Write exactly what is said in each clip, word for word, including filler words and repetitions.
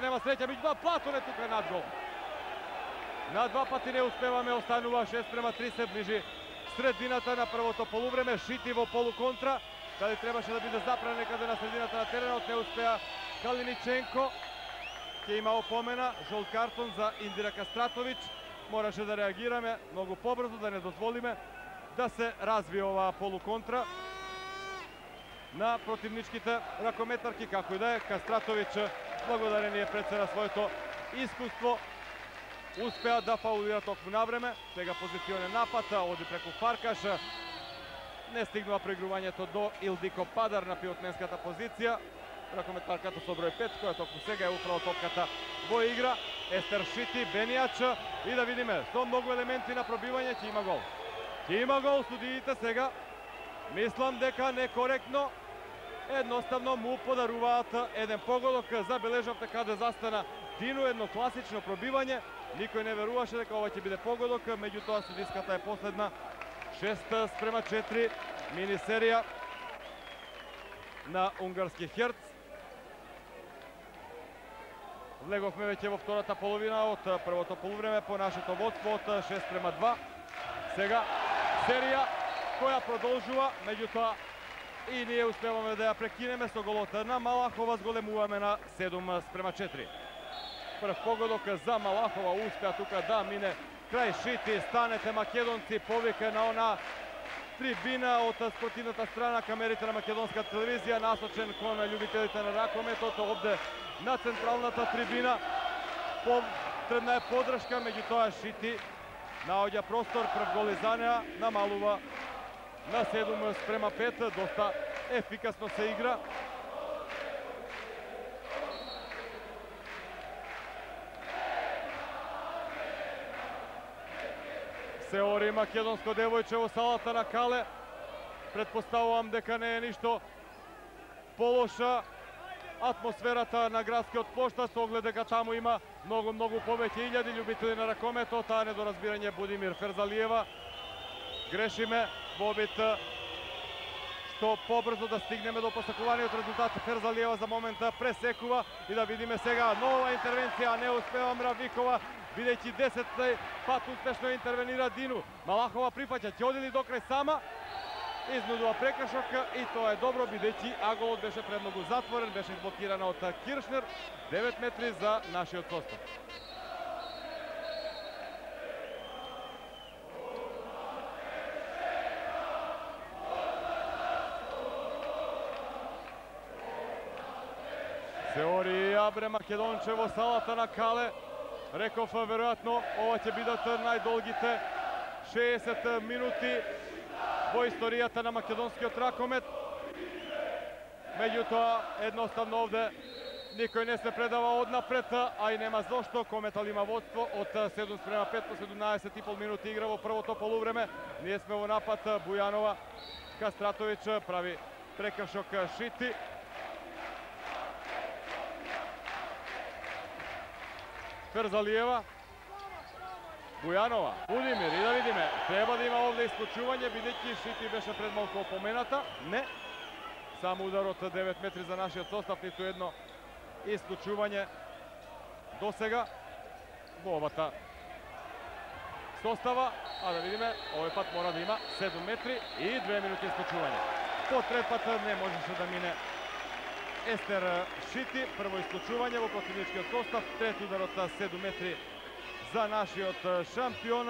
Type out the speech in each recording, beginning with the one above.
Нема среќа, меѓутоа Платон е тука над гол. На два пати не успеваме, останува шест према три, се ближи средината на првото полувреме. Шити во полуконтра, каде требаше да биде запран некаде на средината на теренот, не успеа Калиниченко. Ќе има опомена, жолт картон за Индира Кастратовиќ. Мораше да реагираме многу побрзо, да не дозволиме да се развие оваа полуконтра на противничките ракометарки. Како и да е, Кастратовиќ, благодарение пред се на своето искуство, успеа да фаулира токму навреме. Сега позиционен напад, оди преку Фаркаш. Не стигнува преигрувањето до Илдико Падар на пивотменската позиција. Ракометарката со број пет, која токму сега е управо топката во игра. Естер Шити, Бенијач, и да видиме, со многу елементи на пробивање, ќе има гол. Ќе има гол, судиите сега. Мислам дека некоректно, едноставно му подаруваат еден погодок. Забележавте каде застана Дину, едно класично пробивање. Никој не веруваше дека ова ќе биде погодок, меѓутоа судиската е последна. шест спрема четири, мини серија на унгарски Херц. Влеговме веќе во втората половина од првото полувреме по нашето водство од шест спрема два. Сега серија која продолжува, меѓутоа и ние успеваме да ја прекинеме со голот на Малахова, зголемуваме на седум спрема четири. Прв погодок за Малахова, успеа тука да мине крај Шити. Станете македонци, повика на она трибина од спортивната страна, камерите на македонска телевизија, насочен кон љубителите на ракометот. Овде на централната трибина потребна е подршка, меѓутоа Шити наоѓа простор, прв гол за неа, намалува на седум спрема пет, доста ефикасно се игра. Се ори македонско девојче во салата на Кале. Предпоставувам дека не е ништо полоша атмосферата на градскиот поштар, со оглед дека таму има многу, многу повеќе илјади љубители на ракометот, а недоразбирање Будимир Ферзалиева. Грешиме во обид што побрзо да стигнеме до посакуваниот резултат. Ферзалиева за момента пресекува и да видиме сега нова интервенција, не успева Мравикова, бидејќи десет пат успешно интервенира Дину. Малахова прифаќа, ќе оди ли до крај сама? Изнудува прекршок и тоа е добро, бидејќи аголот беше премногу затворен, беше блокирана од Киршнер. девет метри за нашиот состав. Се ори Абре Македонче во салата на Кале. Реков, веројатно, ова ќе бидат најдолгите шеесет минути во историјата на македонскиот ракомет. Меѓутоа, едноставно овде никој не се предава однапред, а и нема зошто. Кометал има водство од седум спрема пет по седумнаесет и пол минути игра во првото полувреме. Ние сме во напад, Бујанова, Кастратовиќ прави прекршок Шити. Ферзалиева, Бујанова, Будимир, и да видиме, треба да има овде исклучување, бидејќи Шити беше пред малку опомената. Не, само удар од девет метри за нашиот состав, ниту едно исклучување до сега во овата состава. А да видиме, овој пат мора да има седум метри и две минути исклучување. По трет пат не можеше да мине Естер Шити. Прво исклучување во противничкиот состав, трет удар од седум метри за нашиот шампион.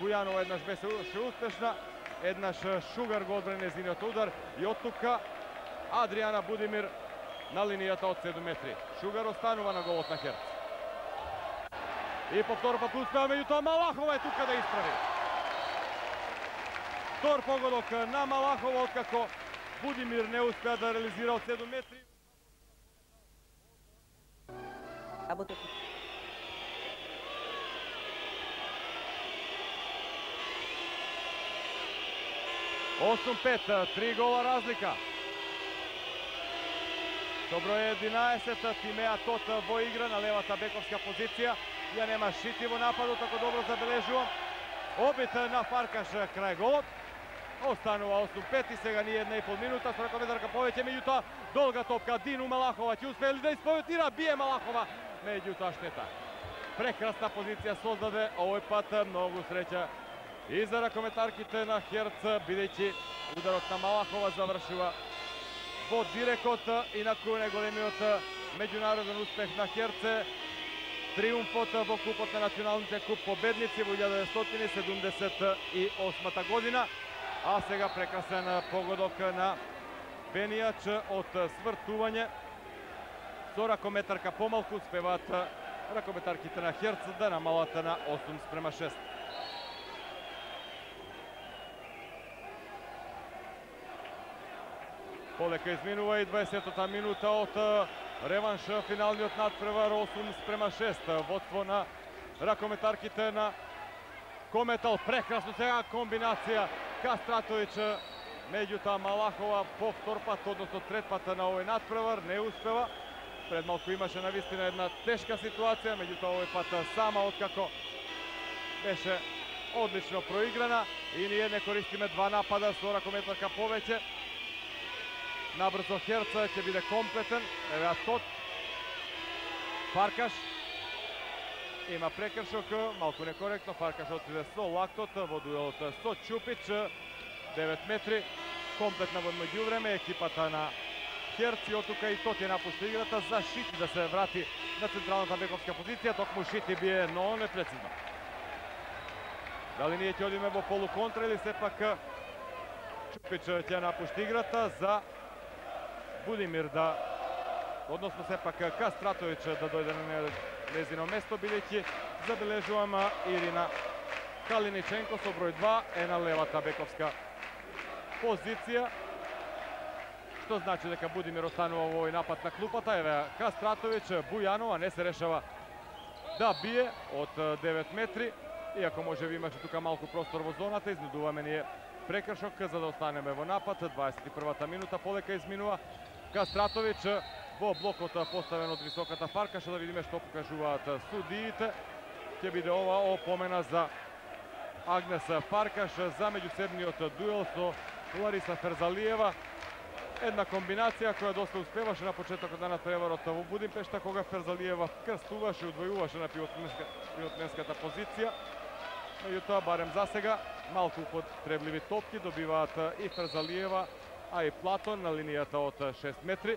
Бујанова еднаш беше успешна, еднаш Шугар го одбрани нејзиниот удар и од тука Адријана Будимир на линијата од седум метри. Шугар останува на голот на Херц. И по втор пат успеа, меѓутоа Малахова е тука да исправи. Втор погодок на Малахова, откако Будимир не успеа да реализира од седум метри. осум пет, три гола разлика. Со број единаесет, Тимеа Тот во игра на левата бековска позиција. Ја нема Шити во нападот, ако добро забележувам. Обид на Фаркаш крај голот. Останува осум пет и сега ни една и пол минута со ракометарка повеќе, меѓутоа долга топка Дину Малахова ќе успее ли да исповедира, бие Малахова меѓутоа штета. Прекрасна позиција создаде овој пат, многу среќа и за ракометарките на Херц, бидејќи ударот на Малахова завршува во дирекот, инаку најголемиот меѓународен успех на Херце, триумфот во купот на националните куп победници во илјада деветстотини седумдесет и осма година, а сега прекрасен погодок на Бенијач од свртување. Со ракометарка помалку успеваат ракометарките на Херц да намалат на осум спрема шест. Полека изминува и дваесеттата минута од реванш финалниот надпревар, осум спрема шест. Водство на ракометарките на Кометал. Прекрасно сега комбинација Кастратовиќ, меѓутоа Малахова по втор пат, односно трет пат на овој надпревар не успева. Пред малку имаше навистина една тешка ситуација, меѓутоа овој пат сама откако беше одлично проиграна и ние не користиме два напада со ракометарка повеќе. Набрзо Херц ќе биде комплетен. Еве Тот. Фаркаш има прекршок, малку некоректно. Фаркаш отиде со лактот во дуелот со Чупич. девет метри. Комплетна во меѓувреме екипата на Херц и оттука и Тот ја напушти играта за Шити да се врати на централната бековска позиција. Токму Шити бие, но непрецизно. Дали ние ќе одиме во полуконтра или сепак Чупич ќе напушти играта за Будимир да, односно сепак Кастратовиќ да дојде на незино место, бидејќи забележувам Ирина Калиниченко со број два е на левата бековска позиција, што значи дека Будимир останува во овој напад на клупата. Еве Кастратовиќ, Бујанова не се решава да бие од девет метри, иако може би имаше тука малку простор во зоната. Изнудуваме ние прекршок за да останеме во напад. дваесет и првата минута полека изминува. Кастратовиќ во блокот поставен од високата Фаркаша, да видиме што покажуваат судиите. Ќе биде ова опомена за Агнес Фаркаш за меѓусебниот дуел со Лариса Ферзалиева. Една комбинација која доста успеваше на почетокот на надпреварот во Будимпешта, кога Ферзалиева крстуваше и удвојуваше на пивотменската позиција. Меѓутоа, барем за сега, малку употребливи топки добиваат и Ферзалиева, а и Платон на линијата од шест метри.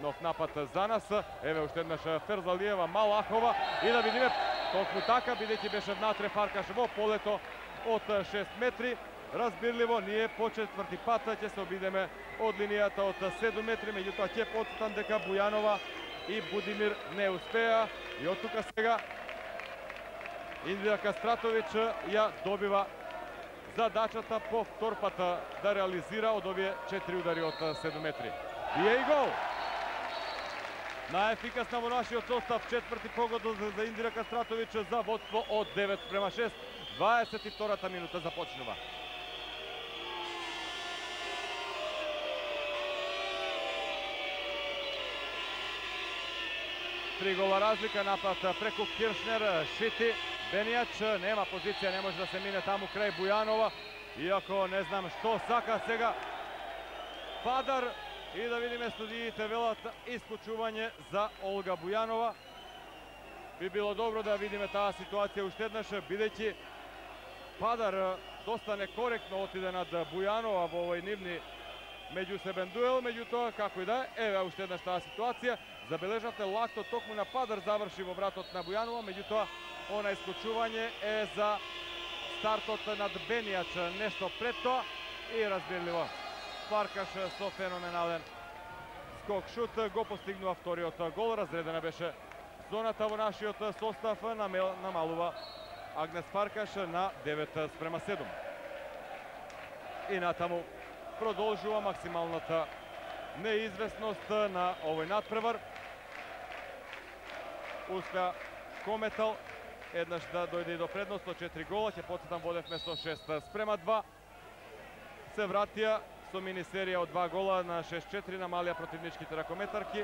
Нов напад за нас. Еве уште еднаш Ферзалиева, Малахова и да видиме токму така, бидејќи беше внатре Фаркаш во полето од шест метри. Разбирливо, ние по четврти пат ќе се обидеме од линијата од седум метри, меѓутоа ќе потсетам дека Бујанова и Будимир не успеа и од тука сега Индија Кастратовиќ ја добива задачата по втор пат да реализира од овие четири удари од седум метри. Бие и гол! Најефикасна во нашиот состав, четврти погодок за Индира Кастратовиќ за водство од девет спрема шест. дваесет и втората минута започнува. Три гола разлика, напад преку Киршнер, Шити, Бенијач, нема позиција, не може да се мине таму крај Бујанова, иако не знам што сака сега Падар. И да видиме студиите велат исклучување за Олга Бујанова. Би било добро да видиме таа ситуација уште еднаш, бидејќи Падар доста некоректно отиде над Бујанова во овој нивни меѓусебен дуел, меѓутоа како и да е, еве уште еднаш таа ситуација. Забележавте лактот токму на Падар заврши во вратот на Бујанова, меѓутоа она исклучување е за стартот над Бенијач нешто пред тоа и разбирливо Фаркаш со феноменален скок шут го постигнува вториот гол. Разредена беше зоната во нашиот состав, намалува Агнес Фаркаш на девет спрема седум. И натаму продолжува максималната неизвестност на овој надпревар. Успеа Кометал еднаш да дојде и до предност со четири гола, ќе потсетам водевме со шест спрема два. Се вратија со мини серија од два гола на шест четири намалија противничките ракометарки.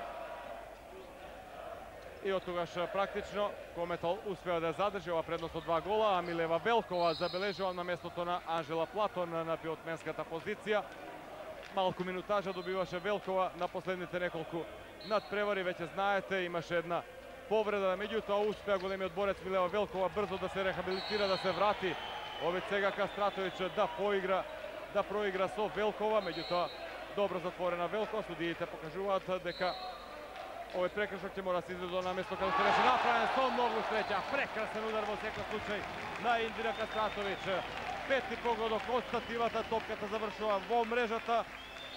И од тогаш практично Кометал успеа да задржи ова предност од два гола, а Милева Велкова забележува на местото на Анжела Платон на пивотменската позиција. Малку минутажа добиваше Велкова на последните неколку надпревари, веќе знаете, имаше една повреда, меѓутоа успеа големиот борец Милева Велкова брзо да се рехабилитира, да се врати. Овде сега Кастратовиќ да поигра, да проигра со Велкова, меѓутоа добро затворена Велкова. Судиите покажуваат дека овој прекршок ќе мора да се изведе на место каде што беше направен со многу среќа. Прекрасен удар во секој случај на Индира Кастратовиќ. Пети погодок од стативата, топката завршува во мрежата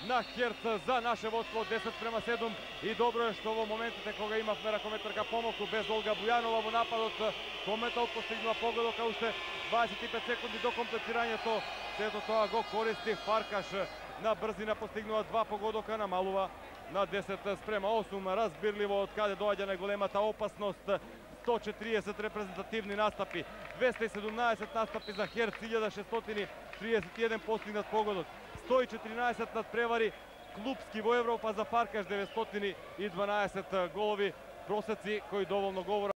на Херц за наше водство десет према седум. И добро е што во моментите кога имавме ракометарка помалку без Олга Бујанова во нападот, Кометал постигнува погодока уште дваесет и пет секунди до комплетирањето. Сето тоа го користи Фаркаш. На брзина постигнува два погодока, намалува на десет спрема осум. Разбирливо од каде доаѓа најголемата опасност. сто четириесет репрезентативни настапи, двесте и седумнаесет настапи за Херц, илјада шестстотини триесет и еден постигнат погодок, сто и четиринаесет надпревари клупски во Европа за Фаркаш, деветстотини и дванаесет голови, просеци кои доволно говорат